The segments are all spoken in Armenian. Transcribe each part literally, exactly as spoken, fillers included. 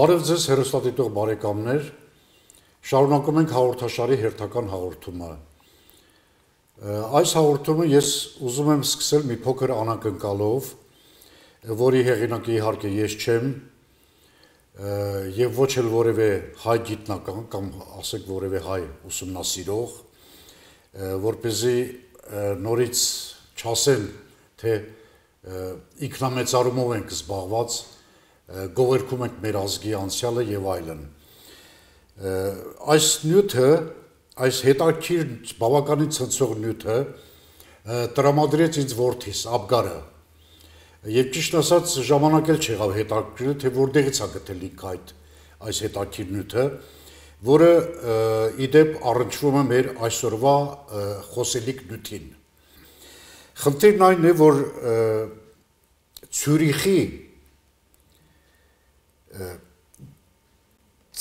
Բարև ձեզ հեռուստադիտող բարեկամներ, շարունակում ենք հաղորդաշարի հերթական հաղորդումը։ Այս հաղորդումը ես ուզում եմ սկսել մի փոքր անակնկալով, որի հեղինակը իհարկե ես չեմ, եւ ոչ էլ որևէ հայ գիտնական կամ ասենք որևէ հայ ուսումնասիրող, որպեսզի նորից չասեն, թե ինքնամեծարումով ենք զբաղված, գովերքում ենք մեր ազգի անցյալը եւ այլն։ Այս նյութը, այս հետաքրքիր բավականին ցնցող նյութը տրամադրեց ինձ որդիս Աբգարը։ Եվ ճիշտ ասած ժամանակ էլ չեղավ հետաքրքրել, թե որտեղից է գտել ինքը այդ այս հետաքրքիր նյութը, որը իդեպ առնչվում է մեր այսօրվա խոսելիք նյութին։ Խնդիրն այն է, որ Ցյուրիխի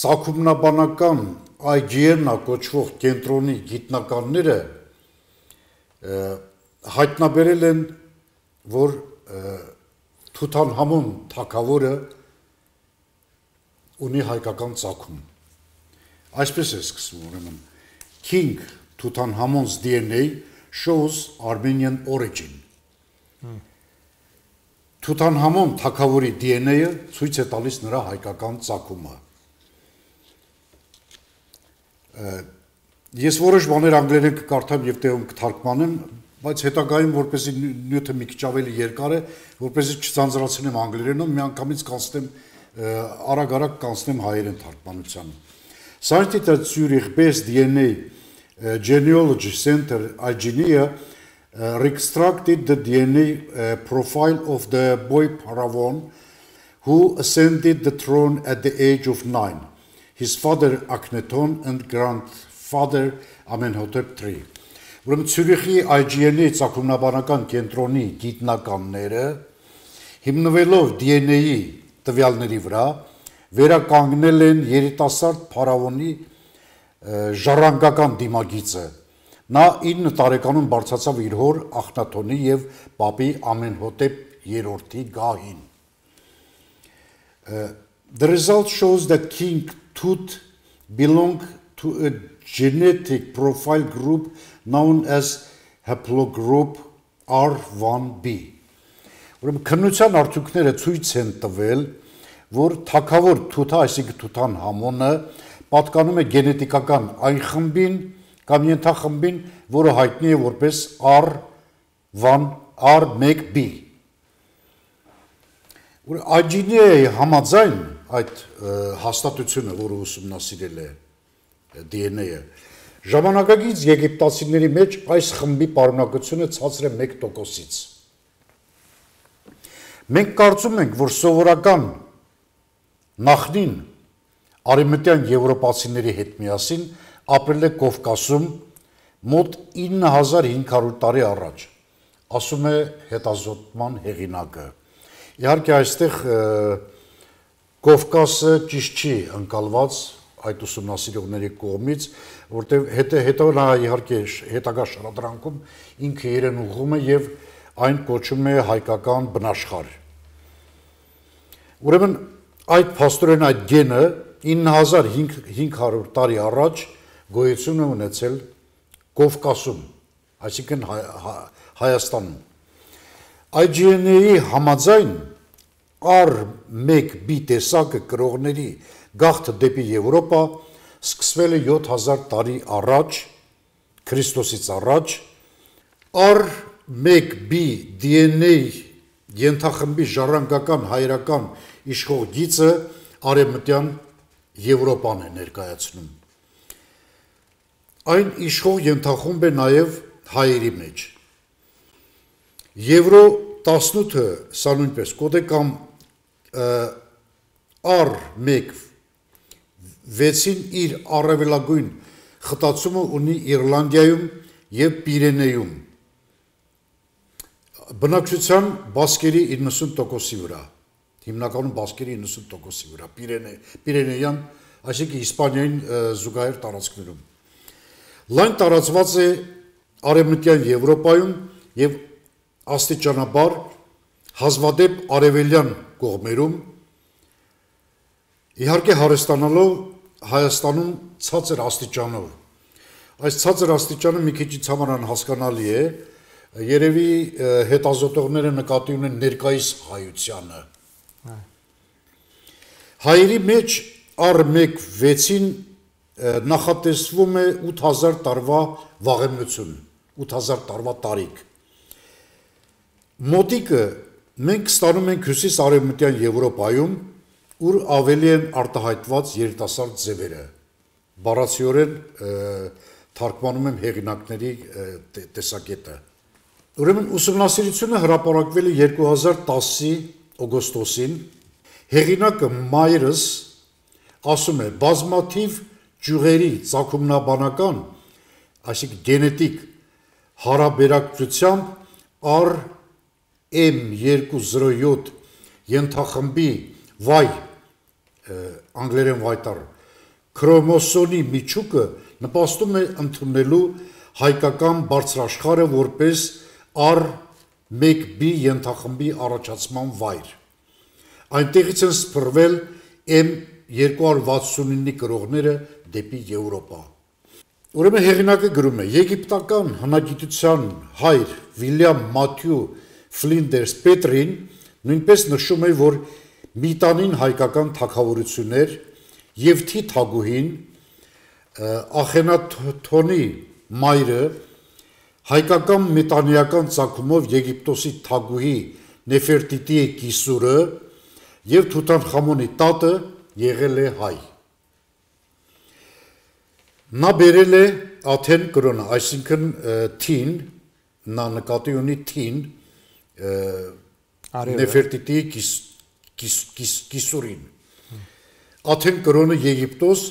ծագումնաբանական այ ջի են-ը կոչվող կենտրոնի գիտնականները հայտնաբերել են, որ Թութանհամոն թագավորը ունի հայկական ծագում։ Այսպես է սկսվում, ուրեմն King Tutankhamun's D N A shows Armenian origin։ Թութանհամոն թագավորի D N A-ը ցույց է տալիս նրա հայկական ծագումը։ Ես որոշ բաներ անգլերեն կկարդամ եւ տեղում կթարգմանեմ, բայց հետագայում որպեսզի նյութը մի քիչ ավելի երկար է, որպեսզի չձանձրացնեմ անգլերենով, միանգամից կանցնեմ արագ-արագ կանցնեմ հայերեն թարգմանությանը։ Scientists at Zurich-based D N A Genealogy Center I G N E Uh, reconstructed the D N A uh, profile of the boy Paravon, who ascended the throne at the age of nine, his father Akhenaton and grandfather Amenhotep the third. Ուրեմն Ցյուրիխի I G N E ծագումնաբանական կենտրոնի գիտնականները հիմնվելով D N A-ի տվյալների վրա վերականգնել են երիտասարդ Փարավոնի ժառանգական դիմագիծը։ Նա ինը տարեկանում բարձրացավ իր հոր Ախնաթոնի եւ պապի Ամենհոտեպ երրորդի գահին։ The result shows that King Tut belonged to a genetic profile group known as haplogroup R one B. Ուրեմն քննության արդյունքները ցույց են տվել, որ թագավոր Թութա, այսինքն Թութանհամոնը պատկանում է գենետիկական այն խմբին կամ ենթախմբին, որը հայտնի է որպես R one B։ I G N E-ի համաձայն այդ հաստատությունը, որը ուսումնասիրել է D N A-ը, ժամանակակից եգիպտացիների մեջ այս խմբի պարունակությունը ցածր է մեկ տոկոսից։ Մենք կարծում ենք, որ սովորական նախնին արևմտյան եվրոպացիների հետ միասին ապրել է Կովկասում մոտ ինը հազար հինգ հարյուր տարի առաջ, ասում է հետազոտման հեղինակը։ Իհարկե այստեղ Կովկասը ճիշտ չի ընկալված այդ ուսումնասիրողների կողմից, որտեղ հետո հետո նա իհարկե հետագա շարադրանքում ինքը իրեն ուղղում է եւ այն կոչում է հայկական բնաշխարհ։ Ուրեմն այդ փաստորեն այդ գենը ինը հազար հինգ հարյուր տարի առաջ գոյություն է ունեցել Կովկասում, այսինքն Հայաստանում։ I G N E-ի համաձայն R one B տեսակը կրողների գաղթը դեպի Եվրոպա սկսվել է յոթ հազար տարի առաջ, Քրիստոսից առաջ, R one B D N A ենթախմբի ժառանգական հայերական իշխող գիծը արևմտյան Եվրոպան է ներկայացնում։ Այն իշխող ենթախումբ է նաև հայերի մեջ։ Եվրո տասնութը սա նույնպես կոդե կամ առ մեկ վեցին իր առավելագույն խտացումը ունի Իռլանդիայում եւ Պիրենեում բնակչության բասկերի իննսուն տոկոսի վրա հիմնականում բասկերի իննսուն տոկոսի վրա Պիրենե Պիրենեյան այսինքն Իսպանիային զուգահեռ տարածքներում լայն տարածված է արևմտյան Եվրոպայում եւ աստիճանաբար հազվադեպ արևելյան կողմերում իհարկե հարստանալով Հայաստանում ցածր աստիճանով այս ցածր աստիճանը մի քիչ համար անհասկանալի է երևի հետազոտողները նկատի ունեն ներկայիս հայությանը հայերի մեջ առ մեկ վեցին նախատեսվում է ութ հազար տարվա վաղեմնություն ութ հազար տարվա տարիք մոտիկը մենք ստանում ենք հյուսիս արևմտյան Եվրոպայում ուր ավելի են արտահայտված երիտասարդ ձևերը բառացիորեն թարգմանում եմ հեղինակների տեսակետը ուրեմն ուսումնասիրությունը հրապարակվել է երկու հազար տասի օգոստոսին հեղինակը Մայրս ասում է բազմաթիվ ճյուղերի ծագումնաբանական այսինքն գենետիկ հարաբերակցությամբ առ M երկու զրո յոթ ենթախմբի Y անգլերեն վայտար քրոմոսոմի միջուկը նպաստում է ընդունելու հայկական բարձրաշխարհը որպես առ մեկ B ենթախմբի առաջացման վայր այնտեղից են սփռվել M երկու հարյուր վաթսունինը կրողները դեպի Եվրոպա ուրեմն հեղինակը գրում է եգիպտական հնագիտության հայր Վիլյամ Մաթյու Ֆլինդերս Պետրին նույնպես նշում է որ Միտանին հայկական թագավորություններ եւ Թի թագուհին Ախենաթոնի մայրը հայկական մետանիական ցակումով Եգիպտոսի թագուհի Նեֆերտիտիի կիսուրը եւ Թութանխամոնի տատը եղել է հայ նա բերել է Աթեն կրոնը այսինքն Թին նա նկատի ունի Թին Նեֆերտիտիի կիս Կիսուրին Աթեն կրոնը Եգիպտոս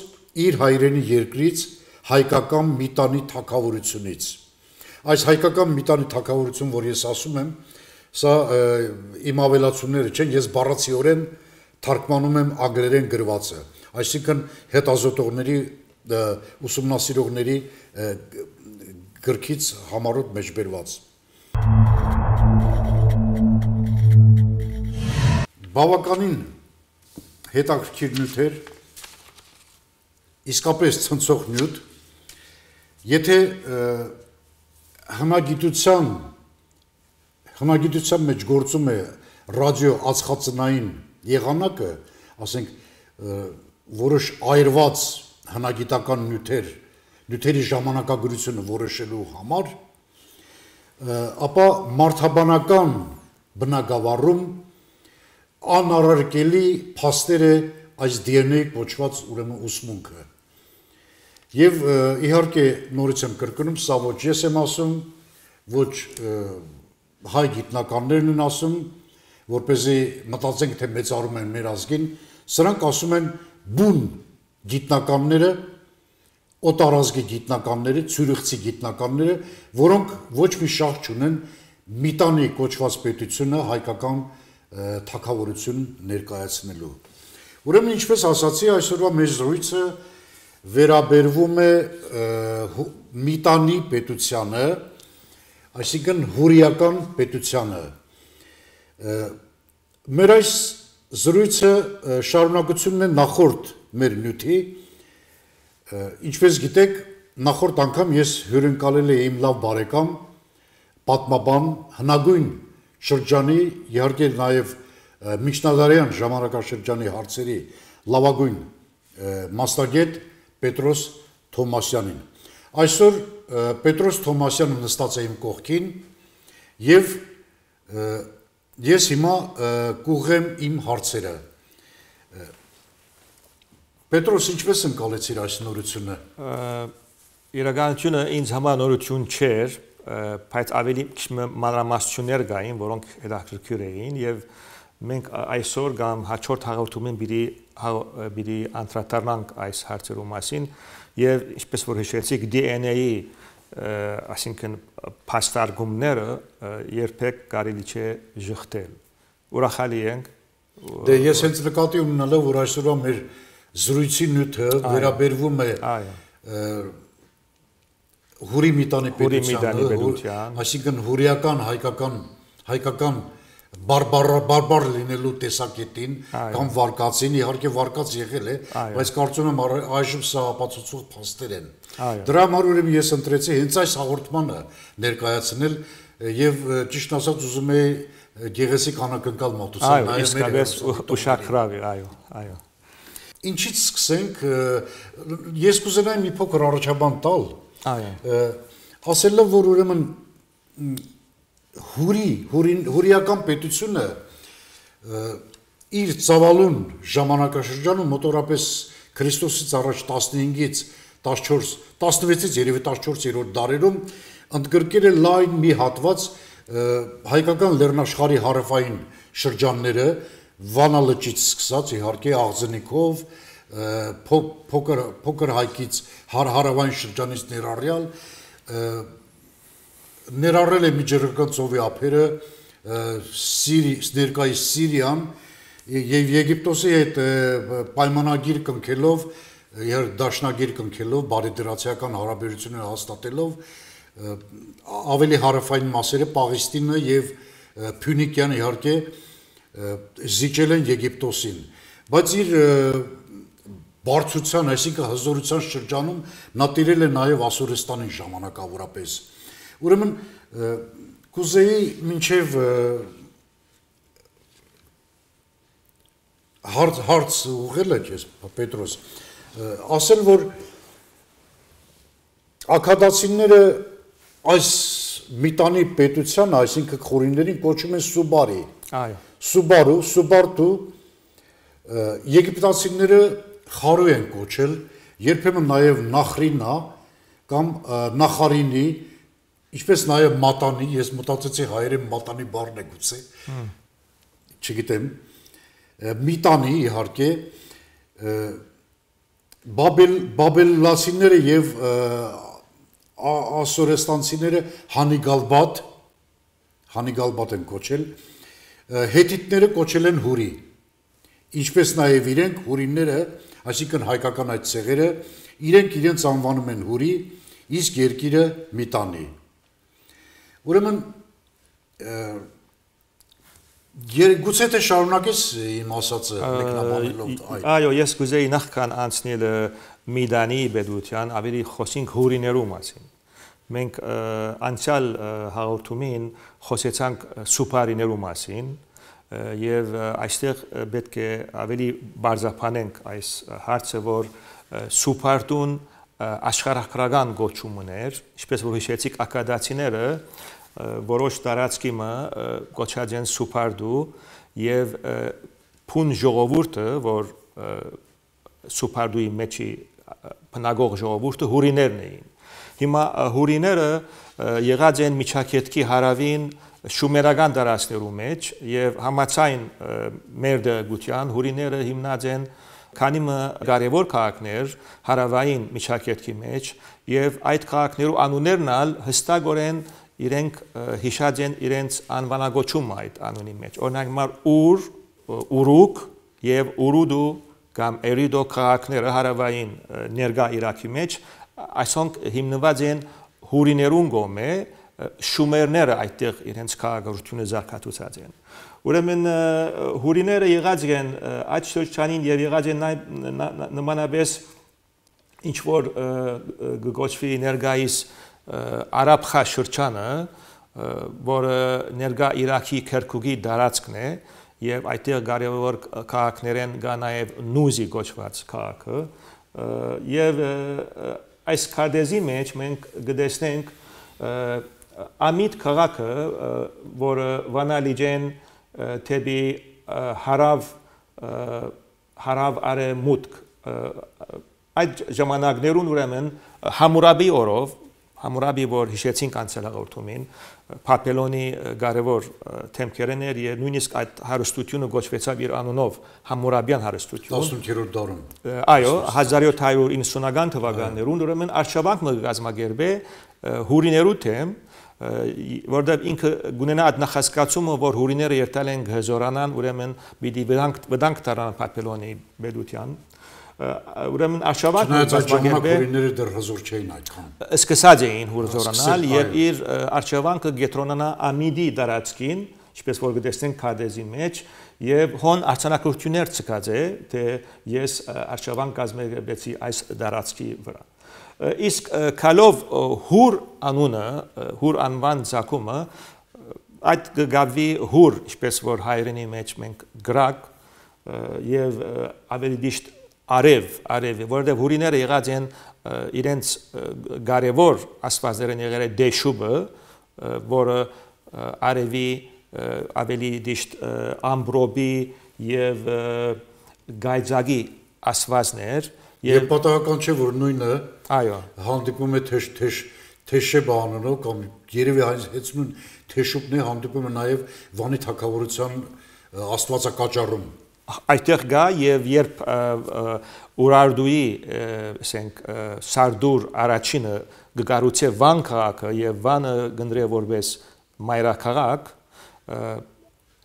իր հայրենի երկրից հայկական միտանի թագավորությունից այս հայկական միտանի թագավորություն որ ես ասում եմ սա իմ ավելացումները չեն ես բառացիորեն թարգմանում եմ անգլերեն գրվածը այսինքն հետազոտողների ուսումնասիրողների գրքից համառոտ մեջբերված բավականին հետաքրքիր նյութ էր իսկապես ցնցող նյութ եթե հնագիտության հնագիտության մեջ գործում է ռադիո ածխածնային եղանակը ասենք որոշ այրված հնագիտական նյութեր նյութերի ժամանակագրությունը որոշելու համար ապա մարդաբանական բնագավառում անառարկելի փաստեր է այս D N A կոչված ուրեմն ուսմունքը եւ իհարկե նորից եմ կրկնում սա ոչ ես եմ ասում ոչ հայ գիտնականներն են ասում որպեսզի մտածենք թե մեծարում են մեր ազգին սրանք ասում են բուն գիտնականները օտարազգի գիտնականները ցյուրիխցի գիտնականները որոնք ոչ մի շահ չունեն միտանի կոչված պետությունը հայկական թագավորություն ներկայացնելու ուրեմն ինչպես ասացի այսօրվա մեր զրույցը վերաբերվում է միտանի պետությանը այսինքն հուրիական պետությանը մեր այս զրույցը շարունակությունն է նախորդ մեր նյութի ինչպես գիտեք նախորդ անգամ ես հյուրընկալել եմ իմ լավ բարեկամ պատմաբան հնագույն շրջանի իհարկե նաև միջնադարյան ժամանակաշրջանի հարցերի լավագույն մասնագետ Պետրոս Թոմասյանին այսօր Պետրոս Թոմասյանը նստած է իմ կողքին եւ ես հիմա կուղեմ իմ հարցերը Պետրոս ինչպես ընկալեցիր այս նորությունը Իրականությունը ինձ համար նորություն չէր բայց ավելի մանրամասնություններ կային, որոնք հետաքրքիր էին եւ մենք այսօր կամ հաջորդ հաղորդումին պիտի պիտի անդրադառնանք այս հարցերու մասին եւ ինչպես որ հիշեցիք D N A-ի այսինքն փաստարկումները երբեք կարելի չէ ժխտել։ Ուրախալի ենք։ Դե ես հենց նկատի ունենալով որ այսօրվա մեր զրույցի նյութը վերաբերվում է հուրի միտանի պետության, այսինքն հուրիական հայկական հայկական բարբար լինելու տեսակետին կամ վարկածին, իհարկե վարկած եղել է, բայց կարծում եմ այժմ սա ապացուցող փաստեր են։ Դրա համար ուրեմն ես ընտրեցի հենց այս հաղորդմանը ներկայացնել եւ ճիշտ ասած ուզում եի գեղեցիկ անակնկալ մոտեցնել նայել իսկապես ուշագրավ է, այո, այո։ Ինչից սկսենք, ես կուզենայի մի փոքր առաջաբան տալ, ասելով, որ ուրեմն հուրի, հուրիական պետությունը իր ծավալուն ժամանակաշրջանում մոտորապես Քրիստոսից առաջ տասնհինգից տասնչորս, տասնվեցից երևի տասնչորսերորդ դարերում ընդգրկել է լայն մի հատված հայկական լեռնաշխարհի հարավային շրջանները, Վանա լճից սկսած իհարկե Աղձնիկով, փոքր փոքր հայկից հարավային շրջանից ներառյալ ներառել է Միջերկրական ծովի ափերը, ներկայիս Սիրիան եւ Եգիպտոսի հետ պայմանագիր կնքելով, դաշնագիր կնքելով, բարեդրացիական հարաբերություններ հաստատելով ավելի հարավային մասերը Պաղեստինը եւ Փյունիկյան իհարկե զիջել են Եգիպտոսին, բայց իր բարձրության, այսինքն հզորության շրջանում նա տիրել է նաև Ասորստանին ժամանակավորապես։ Ուրեմն կուզեի մինչև հարց հարց ուղղել եք ես Պետրոս, ասել որ աքադացիները այս միտանի պետության, այսինքն խորիներին կոչում են Սուբարի։ Այո։ Սուբարու, Սուբարտու եգիպտացիները խարու են կոչել, երբեմն նաև Նախրինա կամ Նախարինի, ինչպես նաև Մատանի, ես մտածեցի հայերեն Մատանի բառն է գուցե, չգիտեմ, Միտանի իհարկե, բաբելլացիները եւ ասորեստանցիները Հանիգալբատ, Հանիգալբատ են կոչել, հետիտները կոչել են հուրի, ինչպես նաև իրենք հուրիները, այսինքն հայկական այդ ցեղերը, իրենք իրենց անվանում են հուրի, իսկ երկիրը միտանի։ Ուրեմն գուցե թե շարունակես իմ ասածը մեկնաբանելով այդ։ Այո, ես կուզեի նախքան անցնել Միդանի պետության ավելի խոսենք հուրիներու մասին։ Մենք անցյալ հաղորդումին խոսեցանք սուպարիներու մասին եւ այստեղ պետք է ավելի բարձրացնենք այս հարցը, որ սուպարտուն աշխարհագրական գոչում ուներ, ինչպես որ հիշեցիք ակադացիները որոշ տարածքի մը գոչած են սուպարդու եւ փուն ժողովուրդը, որ սուպարդուի մեջի բնագող ժողովուրդը հուրիներն էին։ Հիմա հուրիները եղած են միջակետքի հարավին շումերական տարածքներու մեջ եւ համաձայն մեր դեպության հուրիները հիմնած են քանի մը կարևոր քաղաքներ հարավային միջակետքի մեջ եւ այդ քաղաքներու անուններն ալ հստակորեն իրենք հիշած են իրենց անվանագոչումը այդ անունի մեջ։ Օրինակ մար ուր, ուրուկ եւ ուրուդու կամ Էրիդո քաղաքները հարավային ներկա Իրաքի մեջ այսոնք հիմնված են հուրիներուն գոմե շումերները այդտեղ իրենց քաղաքականությունը զարգացուցած են։ Ուրեմն հուրիները եղած են այդ շրջանին եւ եղած են նմանապես ինչ որ գոչվի ներկայիս Արաբխա շրջանը, որը ներկա Իրաքի Քերքուկի տարածքն է եւ այդտեղ կարևոր քաղաքներ են կա նաեւ Նուզի գոչված քաղաքը եւ այս քարտեզի մեջ մենք գտեսնենք Ամիդ քաղաքը, որը վանալիջեն թեպի հարավ հարավ արևմուտք այդ ժամանակներուն ուրեմն Համուրաբի օրով Համուրաբի, որ հիշեցինք անցյալ հաղորդումին, Փապելոնի կարևոր թեմքերն էր եւ նույնիսկ այդ հարստությունը գոչվեցավ իր անունով Համուրաբյան հարստություն տասնութերորդ դարում։ Այո, հազար յոթ հարյուր իննսունական թվականներուն ուրեմն արշավանքը կազմակերպե հուրիներու թեմ, որտեղ ինքը գունենա այդ նախասկացումը, որ հուրիները երթալ են գզորանան, ուրեմն պիտի վտանգ տարան Փապելոնի բելության։ Ուրեմն արշավանքը կազմակերպե հուրիները դեռ հզոր չէին այդքան։ Սկսած էին հուրզորանալ եւ իր արշավանքը գետրոնանա Ամիդի դարածքին, ինչպես որ գտեսնենք Քադեզի մեջ, եւ հոն արցանակություններ ցկած է, թե ես արշավանք կազմակերպեցի այս դարածքի վրա։ Իսկ քալով հուր անունը, հուր անվան ցակումը այդ գավի հուր, ինչպես որ հայերենի մեջ մենք գրակ եւ ավելի դիշտ արև, արև, որտեղ հուրիները եղած են իրենց կարևոր աստվածերեն եղել է Դեշուբը, որը արևի ավելի դիշտ ամբրոբի եւ գայձագի աստվածներ եւ պատահական չէ որ նույնը այո հանդիպում է թեշ թեշ թեշեբա անունով կամ երևի հայեցնուն թեշուբն է հանդիպում է նաեւ Վանի թագավորության աստվածակաճառում այդտեղ գա եւ երբ Ուրարդուի ասենք Սարդուր առաջինը գկարուցե Վան քաղաքը եւ Վանը գնդրե որպես մայրաքաղաք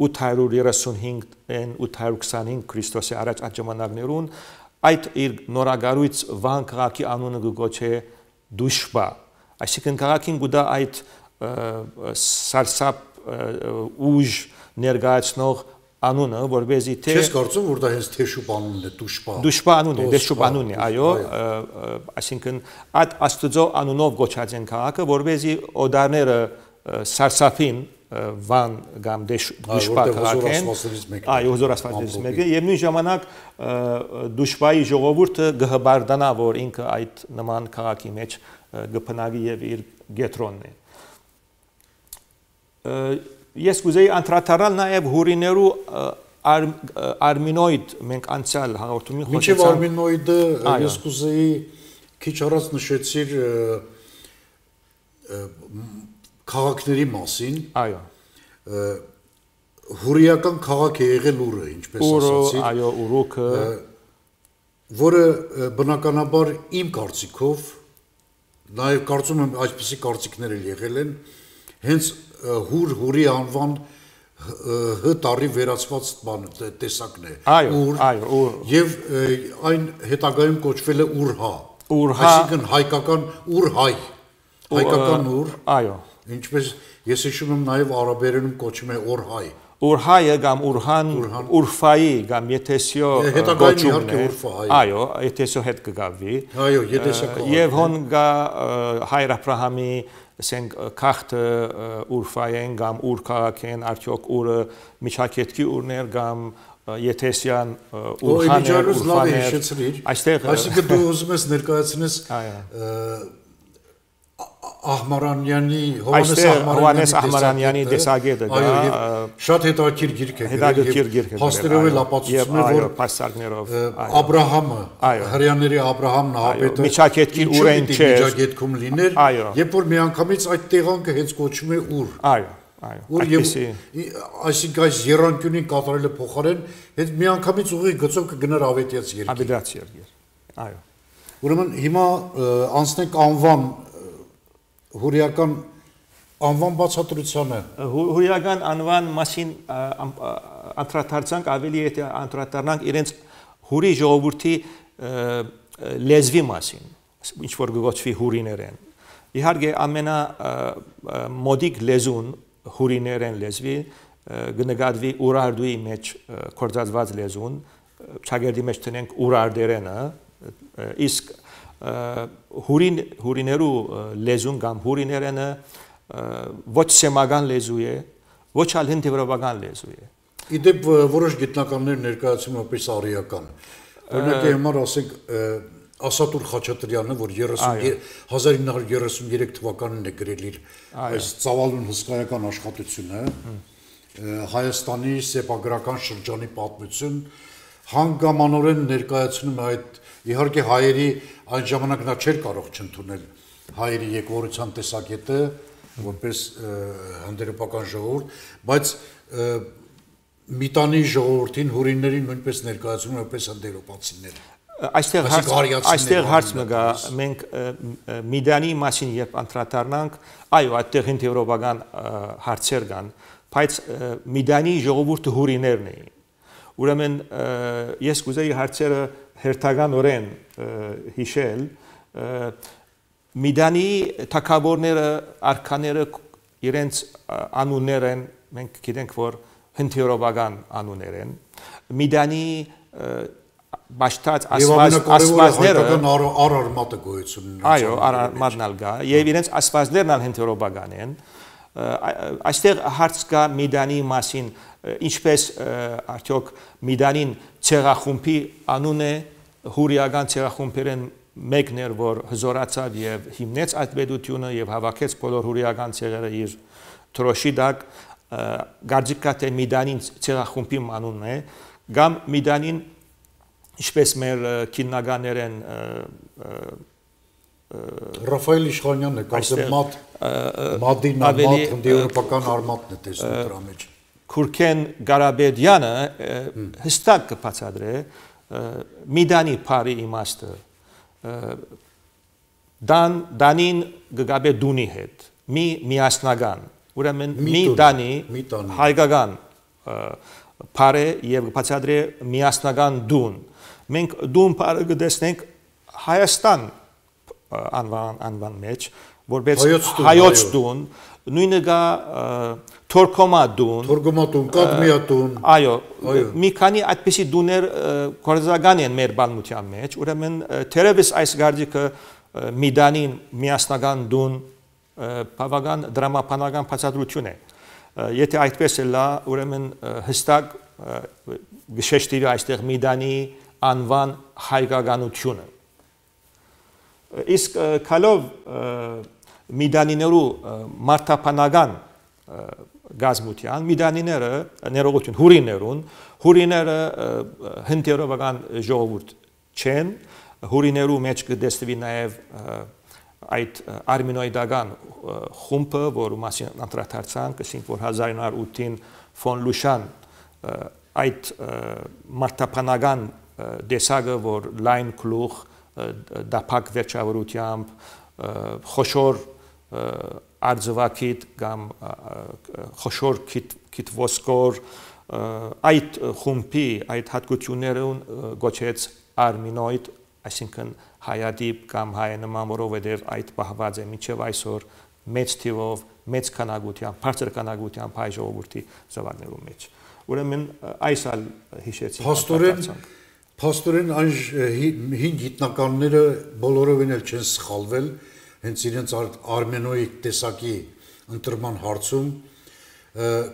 ութ հարյուր երեսունհինգ ութ հարյուր քսանհինգ Քրիստոսի առաջ այդ ժամանակներուն այդ իր նորագարույց Վան քաղաքի անունը գոչե Դուշբա այսինքն քաղաքին գուտա այդ սարսափ ուժ ներկայացնող անունը որբեզի թե Չես կարծում որ դա հենց Թեշուբ անունն է Դուշբա Դուշբա անունն է Դեշուբ անունն է այո այսինքն այդ աստծո անունով գոչած են քաղաքը որբեզի օդարները սարսափին Վան կամ Դուշբա քաղաքեն այո հզոր աստվածներից մեկը եւ նույն ժամանակ Դուշբայի ժողովուրդը գհբարդանա որ ինքը այդ նման քաղաքի մեջ գփնագի եւ իր գետրոնն է ես կուզեի անդրադառնալ նաեւ հուրիներու արմինոիդ մենք անցյալ հաղորդումին խոսեցինք մինչեւ արմինոիդը ես կուզեի քիչ առաջ նշեցիր քաղաքների մասին այո հուրիական քաղաք է եղել Ուրը ինչպես ասացի այո Ուրուքը որը բնականաբար իմ կարծիքով նաև կարծում եմ այսպիսի կարծիքներ էլ եղել են հենց հուր հուրի անվան հ տարի վերացված բան տեսակն է ուր այո եւ այն հետագայում կոչվել է Ուրհա Ուրհա այսինքն հայկական Ուրհայ հայկական Ուր այո ինչպես ես հիշում եմ նաև արաբերենում կոչվում է Օրհայ Ուրհայը կամ Ուրհան Ուրֆայի կամ Եթեսիո կոչումն է այո Եթեսիո հետ կգավի այո Եթեսիո եւ հոն գա հայր Աբրահամի ասենք քախտը Ուրֆայեն կամ Ուր քաղաքեն արդյոք Ուրը միջակետքի Ուրներ կամ Եթեսյան Ուրհաներ Ուրֆաներ այստեղ այսինքն դու ուզում ես ներկայացնես Ահմարանյանի Հովանես Ահմարանյանի տեսակետը դա շատ հետաքրքիր գիրք է հետաքրքիր գիրք է հաստերով էլ ապացուցում է որ փաստարկներով Աբրահամը հрьяաների Աբրահամն հապետը միջակետքի Ուրեն չէ միջակետքում լիներ երբ որ միանգամից այդ տեղանքը հենց կոչվում է Ուր այո այո այդպեսի այսինքն այս երանկյունին կատարելը փոխարեն հենց միանգամից ուղիղ գծով կգներ ավետյաց երկիր ավետյաց երկիր այո ուրեմն հիմա անցնենք անվան հուրիական անվան բացատրությանը հուրիական անվան մասին անդրադարձանք ավելի եթե անդրադառնանք իրենց հուրի ժողովրդի լեզվի մասին ինչ որ գոչվի հուրիներեն իհարկե ամենա մոդիկ լեզուն հուրիներեն լեզվի գնկատվի Ուրարդուի մեջ կորցածված լեզուն ճագերդի մեջ տնենք Ուրարդերենը իսկ հուրին հուրիներու լեզուն կամ հուրիներենը ոչ սեմական լեզու է ոչ ալ հնդեվրոպական լեզու է իդեպ որոշ գիտնականներ ներկայացում որպես արիական օրինակ համար ասենք Ասատուր Խաչատրյանը որ հազար ինը հարյուր երեսուններեք թվականին է գրել իր այս ծավալուն հսկայական աշխատությունը Հայաստանի սեփագրական շրջանի պատմություն հանգամանորեն ներկայացնում է այդ իհարկե հայերի այն ժամանակ նա չէր կարող չընդունել հայերի եկվորության տեսակետը որպես հանդերձական ժողովուրդ, բայց միտանի ժողովրդին հուրիններին նույնպես ներկայացնում որպես հանդերձապացիներ։ Այստեղ այստեղ հարց մգա մենք Միդանի մասին երբ անդրադառնանք, այո, այդտեղ ինտեգրովական հարցեր կան, բայց Միդանի ժողովուրդը հուրիներն էին։ Ուրեմն ես կուզեի հարցերը հերթականորեն հիշել, Միդանի թագավորները, արքաները իրենց անուններ են, մենք գիտենք, որ ինտեգրովական անուններ են, Միդանի Բաշտած ասվածները արարմատը գոյություն ունեն։ Այո, արարմատն ալ գա, եւ իրենց ասվածներն ալ հենթերոբական են։ Այստեղ հարց կա Միդանի մասին, ինչպես արդյոք Միդանին ցեղախումբի անուն է, հուրիական ցեղախումբերեն մեկն էր, որ հզորացավ եւ հիմնեց այդ պետությունը եւ հավաքեց բոլոր հուրիական ցեղերը իր թրոշի տակ, գարձիկա թե Միդանին ցեղախումբի անունն է, կամ Միդանին Ինչպես մեր քիննականներ են Ռաֆայել Իշխանյանն է, կարծեմ մատ մադին մատ հնդեվրոպական արմատն է տեսնում դրա մեջ։ Քուրքեն Ղարաբեդյանը հստակ կբացատրե Միդանի բարի իմաստը դան դանին գգաբե դունի հետ մի միասնական ուրեմն մի դանի հայկական բարը եւ բացատրե միասնական դուն Մենք դուն բարը գտեսնենք Հայաստան անվան անվան մեջ, որպես հայոց դուն, նույնը գա Թորքոմա դուն, Թորքոմա դուն, Կադմիա դուն։ Այո, մի քանի այդպիսի դուներ կորզական են մեր բանության մեջ, ուրեմն թերևս այս գարդիկը Միդանին միասնական դուն բավական դրամապանական բացատրություն է։ Եթե այդպես է լա, ուրեմն հստակ գշեշտիրի այստեղ Միդանի անվան հայկականությունը։ Իսկ քալով Միդանիներու մարտապանական գազմության, Միդանիները ներողություն հուրիներուն, հուրիները հնդերովական ժողովուրդ չեն, հուրիներու մեջ կդեսվի նաև այդ արմինոիդական խումբը, որ մասին անդրադարձանք, ասենք որ հազար ինը հարյուր ութին ֆոն Լուշան այդ մարտապանական դեսագը, որ լայն գլուխ, դափակ վերջավորությամբ, խոշոր արձվակիտ կամ խոշոր քիթ ոսկոր, այդ խումբի, այդ հատկություններուն գոչեց արմինոիդ, այսինքն հայադիպ կամ հայանման, որովհետև այդ պահված է մինչև այսօր մեծ թիվով, մեծ քանակությամբ, բարձր քանակությամբ հայ ժողովրդի զավակներու մեջ։ Ուրեմն այս ալ հիշեցին։ Փաստորեն, փաստորեն այն հին գիտնականները բոլորովին էլ չեն սխալվել, հենց իրենց արմենոիկ տեսակի ընտրման հարցում,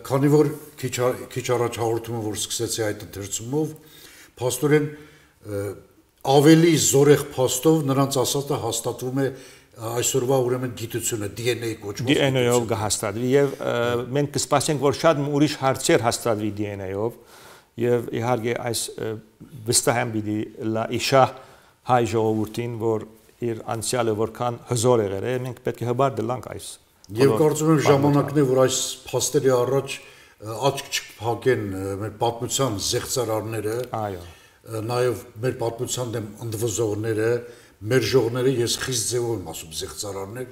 քանի որ քիչ առաջ հաղորդումը, որ սկսեցի այդ ընթերցումով, փաստորեն ավելի զորեղ փաստով նրանց ասածը հաստատվում է այսօրվա ուրեմն գիտությունը D N A կոչվող D N A-ով կհաստատվի եւ մենք կսպասենք որ շատ ուրիշ հարցեր հաստատվի D N A-ով եւ իհարկե այս վստահ եմ պիտի լա իշա հայ ժողովրդին որ իր անցյալը որքան հզոր եղել է մենք պետք է հբար դլանք այս եւ կարծում եմ ժամանակն է որ այս փաստերի առաջ աչք չփակեն մեր պատմության զեղծարարները այո նաեւ մեր պատմության դեմ ընդվզողները մեր ժողները ես խիստ ձևով եմ ասում զեղծարարներ,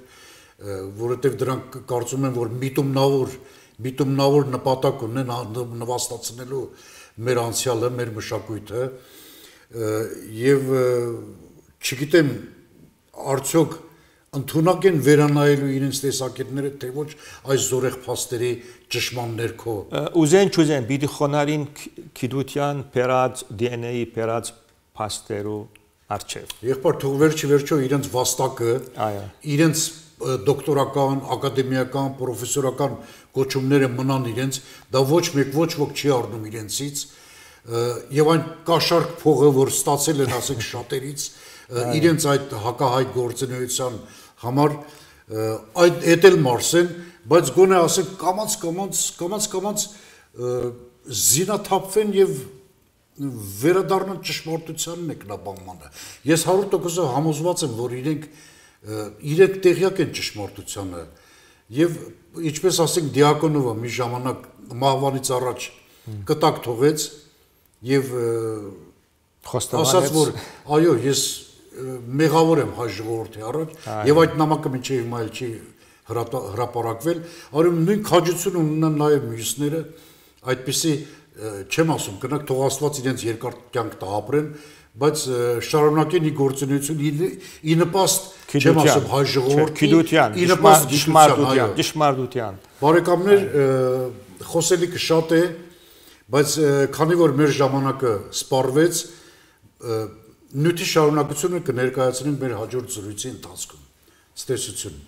որովհետև դրանք կարծում եմ, որ միտումնավոր, միտումնավոր նպատակ ունեն նվաստացնելու մեր անցյալը, մեր մշակույթը եւ չգիտեմ արդյոք ընդունակ են վերանայելու իրենց տեսակետները, թե ոչ այս զորեղ փաստերի ճշմարտ ներքո։ Ուզեն չուզեն, պիտի խոնարհին գիտության բերած D N A-ի բերած փաստերու Արչև։ Եղբայր թող վերջի վերջո իրենց վաստակը, իրենց դոկտորական, ակադեմիական, պրոֆեսորական կոչումները մնան իրենց, դա ոչ մեկ ոչ ոք չի առնում իրենցից, եւ այն կաշառք փողը, որ ստացել են ասենք շատերից, իրենց այդ հակահայ գործունեության համար այդ էտել մարսեն, բայց գոնե ասենք կամած կամած կամած կամած զինաթափվեն եւ վերադառնան ճշմարտությանն եկնաբանմանը։ Ես հարյուր տոկոս համոզված եմ, որ իրենք իրենք տեղյակ են ճշմարտությանը եւ ինչպես ասենք Դիակոնովը մի ժամանակ մահվանից առաջ կտակ թողեց եւ ասաց որ այո ես մեղավոր եմ հայ ժողովրդի առաջ եւ այդ նամակը մինչեւ հիմա էլ չի հրապարակվել արում նույն քաջություն ունեն նաեւ մյուսները այդպիսի չեմ ասում կնակ թող Աստված իրենց երկար կյանք տա ապրեն բայց շարունակեն ի գործունեություն ի նպաստ չեմ ասում հայ ժողովրդի ի նպաստ ճշմարտության ճշմարտության բարեկամներ խոսելիքը շատ է բայց քանի որ մեր ժամանակը սպառվեց նյութի շարունակությունը կներկայացնենք մեր հաջորդ զրույցի ընթացքում ցտեսություն